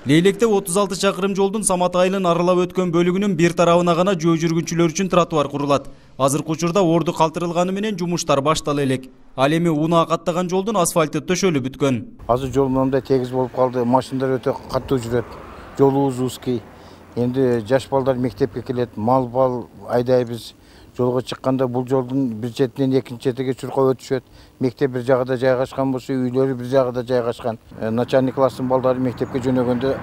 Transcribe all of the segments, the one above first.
Лейлекте 36 чакырым жолдун Самат айылын аралап өткөн бөлүгүнүн бир тарабына гана жөө жүргүнчүлөр үчүн тротуар курулат. Азыркы учурда орду калтырылганы менен жумуштар баштала элек. Ал эми унаа каттаган жолдун асфальты төшөлүп бүткөн. Азыр жол мындай тегиз болуп калды. Машиналар өтө катуу жүрөт. Жолубуз узкий. Энди жаш балдар мектепке келет, мал айдайбыз. Жолго чыкканда бул жолдун бир четинен экинчи четиге чуркап өтүшөт. Мектеп бир жагда жайгашкан болсо, үйлөрү бир жагда жайгашкан. Начальник класстын балдары мектепке жөнөгөндө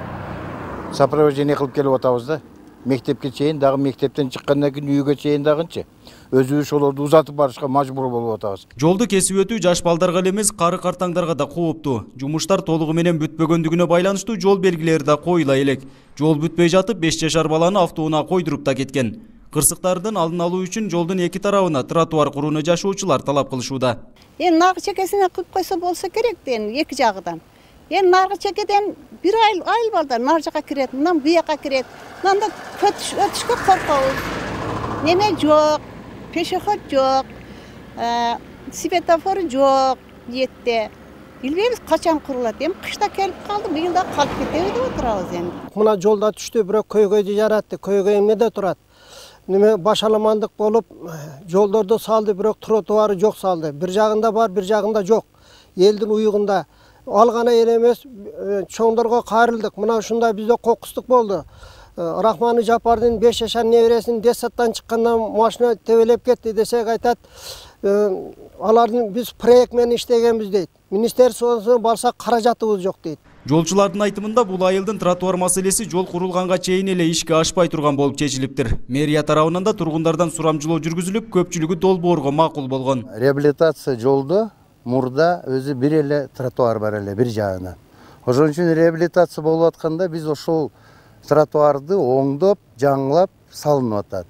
сопровождение кылып келип атабыз да. Мектепке чейин, дагы мектептен чыккандан кийин үйгө чейин дагынчы. Өзүбүз ошолорду узатып барышка мажбур болуп атабыз. Жолду кесип өтүү жаш балдарга эле эмес, кары картаңдарга да кооптуу. Жумуштар толугу менен бүтпөгөндүгүнө байланыштуу жол белгилери да коюла элек. Жол бүтпөй жатып 5 жашар баланы автоунаа койдуруп да кеткен. Кырсыктардын алдын алуу үчүн жолдун эки тарабына тротуар курууну жашоочулар талап кылышууда. Наркы чекесине кылып койсо болсо керек дейм, эки жагынан. Наркы чекеден бир айыл балдар нар жака кирет, мындан буяка кирет. Мында өтүшкө коркобуз. Неме жок, пешеход жок, светофор жок, жетте. Билбейбиз качан курулат. Кышта келип калды, быйыл да калып кетеби деп отурабыз энди. Мына жолда түштү, бирок көйгөйдү жаратты. Көйгөй эмнеде турат? Неме башаламандык болуп, жолдорду салды, бирок тротуары жок салды. Бир жагында бар, бир жагында жок. Элдин уюгунда. Ал гана эле эмес, чоңдорго кайрылдык. Мына ушундай бизде кокустук болду. Рахманы Жапардын 5 жашар небересин Десаттан чыккандан машина тебелеп кетти десек айтат. Алардын биз проект менен иштегенбиз дейт. Министерствосуна барсак каражатыбыз жок дейт. Жолчулардын айтымында бул айылдын тротуар маселеси жол курулганга чейин эле ишке ашпай турган болуп чечилиптир. Мэрия тарабынан да тургундардан сурамжылоо жүргүзүлүп, көпчүлүгү долбоорго макул болгон. Реабилитация жолдо мурда өзү бир эле тротуар бар эле бир жагынан. Ошон үчүн реабилитация болуп атканда биз ошол тротуарды оңдоп, жаңылап салынып атат.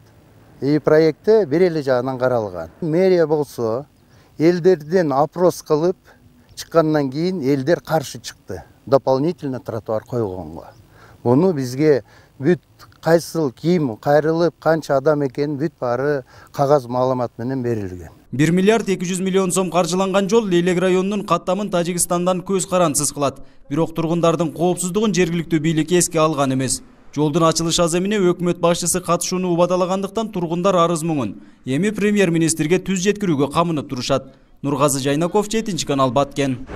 Проектте бир эле жагынан каралган. Мэрия болсо элдерден опрос кылып чыккандан кийин элдер каршы чыкты. Дополнительно тротуар койгонго. Муну бизге бүт кайсыл ким кайрылып, канча адам экенин бүт баары кагаз маалымат менен берилген. 1 миллиард 200 миллион сом каржыланган жол Лейлек районунун каттамын Тажикстандан көз карансыз кылат. Бирок тургундардын коопсуздугун жергиликтүү бийлик эске алган эмес. Жолдун ачылыш аземине өкмөт башчысы катышууну убадалагандыктан тургундар арыз муңун эми премьер-министрге түз жеткирүүгө камынып турушат. Нургазы Жайнаков, 7 канал, Баткен.